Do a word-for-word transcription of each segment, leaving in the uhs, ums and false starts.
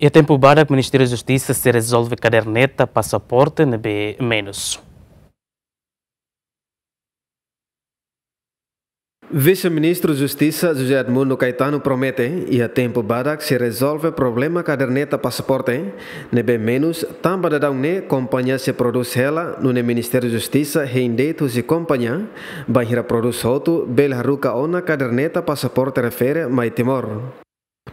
Iha tempu badak Ministériu Justisa sei rezolve kaderneta pasaporte ne'ebé menus. Vise-Ministru Justisa José Edmundo Caetano promete, iha tempu badak sei rezolve problema kaderneta pasaporte ne'ebé menus, tanba daudaun ne'e kompañia sei prodús hela, nune'e Ministériu Justisa hein de'it husi kompañia, bainhira prodús hotu bele haruka ona kaderneta pasaporte refere mai Timor.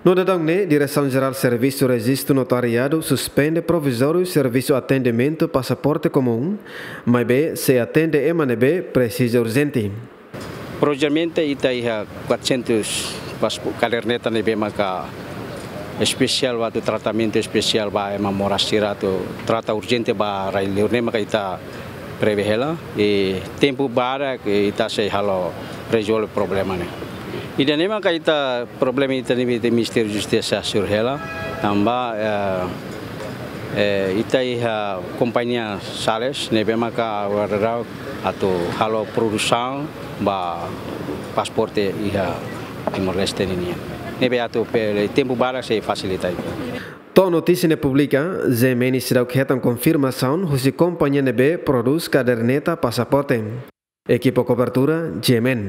No daudaun ne'e, Diresaun Jerál Servisu Rejistu Notariadu suspende provizóriu servisu atendimentu pasaporte komún, maibé sei atende ema ne'ebé presiza urjente. Propriamente ita iha quatrocentos paspo-, kaderneta ne'ebé maka espesiál ba atu tratamentu espesiál ba ema moras sira atu trata urjente ba rai-liur ne'e maka ita prevee hela, i tempu badak ita sei halo rezolve problema ne'e. Ida-ne'e maka ita problema ita-nia Ministériu Justisa hasoru hela, tanba, eh, eh, ita iha kompañia Sales ne'ebé maka wararau atu halo produsaun ba pasaporte iha Timor-Leste ninian. Ne'ebé atu pe-, tempu badak sei fasilita ita. To'o notísia ne'e publika, G M N seidauk hetan konfirmasaun husi kompañia ne'ebé prodús kaderneta pasaporte. Ekipa kobertura, G M N.